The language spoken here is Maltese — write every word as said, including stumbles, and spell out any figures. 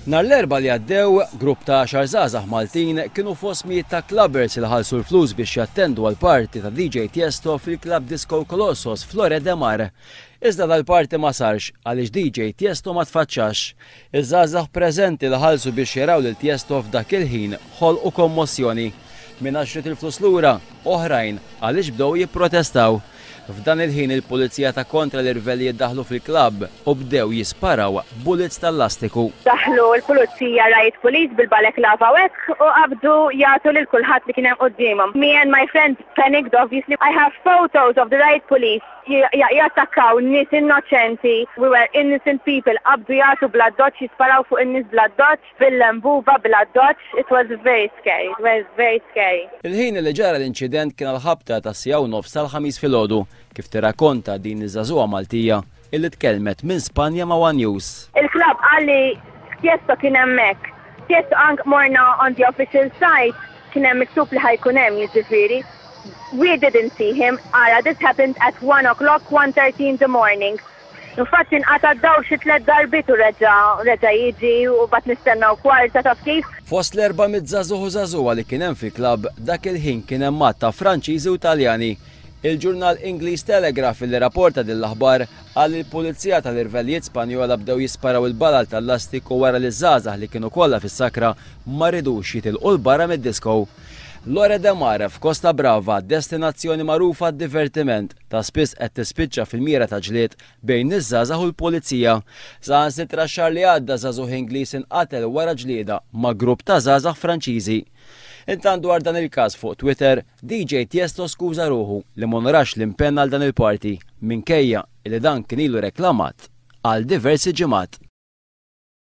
Nhar l-Erbgħa li għaddew, grupp ta' għaxar żgħażagħ Maltin kienu fost mijiet ta' clubbers li ħallsu l-flus biex jattendu għal party ta' D J Tiesto fil-Club Disco Colossos Lloret de Mar. Iżda dal-party ma sarx għaliex D J Tiesto ma tfaċċax. Iż-żgħażagħ preżenti li ħallsu biex jaraw lil Tiesto f'dak il-ħin ħolqu kommossjoni. Min għax ried il-flus lura, oħrajn għaliex bdew jipprotestaw. F'dan il-ħin il-pulizija ta' kontra l-irvelli jiddaħlu fil-klabb u bdew jisparaw bullets tal-lastiku. Daħlu l-pulizija, riot police, bil-balaclava u hekk u qabdu jagħtu lil kulħadd li kien hemm quddiemhom. Me and my friends panicked, obviously. I have photos of the riot police jattakkaw nies innoċenti. We were innocent people. Qabdu jagħtu bl-addoċċ, jisparaw fuq in-nies bl-addoċċ, bil-lembuba bl-addoċċ. It was very scary. It was very scary. Il-ħin li ġara l-inċident kien għal-ħabta ta' siegħa u nofs tal-Ħamis filgħodu, kif tirrakkonta din iż-żagħżugħa Maltija illi tkellmet minn Spanja ma' One News. Il-klabb qalli Tiesto kien hemmhekk. Tiesto anke morna on the official site, kien hemm miktub li ħa jkun hemm, jiġifieri. We didn't see him. Ara, this happened at one o'clock, one thirty in the morning. Infatti nqata' dawl xi tliet darbiet u reġa' reġa' jiġi u bat nistennaw kwarta, taf kif. Fost l-erba' mitt żagħżugħ u żagħżugħa li kien hemm fil-klabb dak il-ħin kien hemm għadd ta' Franċiżi u Taljani. Il-ġurnal Ingliż Telegraph li rapporta din l-aħbar qal il-pulizija tal-irvellijiet Spanjola bdew jisparaw il-balal tal-lastiku wara li żgħażagħ li kienu kollha fis-sakra ma ridux jitilqu 'l barra mid-disco. Lloret de Mar f'Costa Brava, destinazzjoni magħrufa divertiment, ta' spiss qed tispiċċa fil-mira ta' ġlied bejn iż-żgħażagħ u l-pulizija. Saħansitra xahar li għadda żagħżugħ Ingliż inqatel wara ġlieda ma' grupp ta' żgħażagħ Franċiżi. Intant dwar dan il-każ fuq Twitter, D J Tiesto skuża ruħu li m'onorax l-impenn għal dan il-party minkejja li dan kien ilu reklamat għal diversi ġimgħat.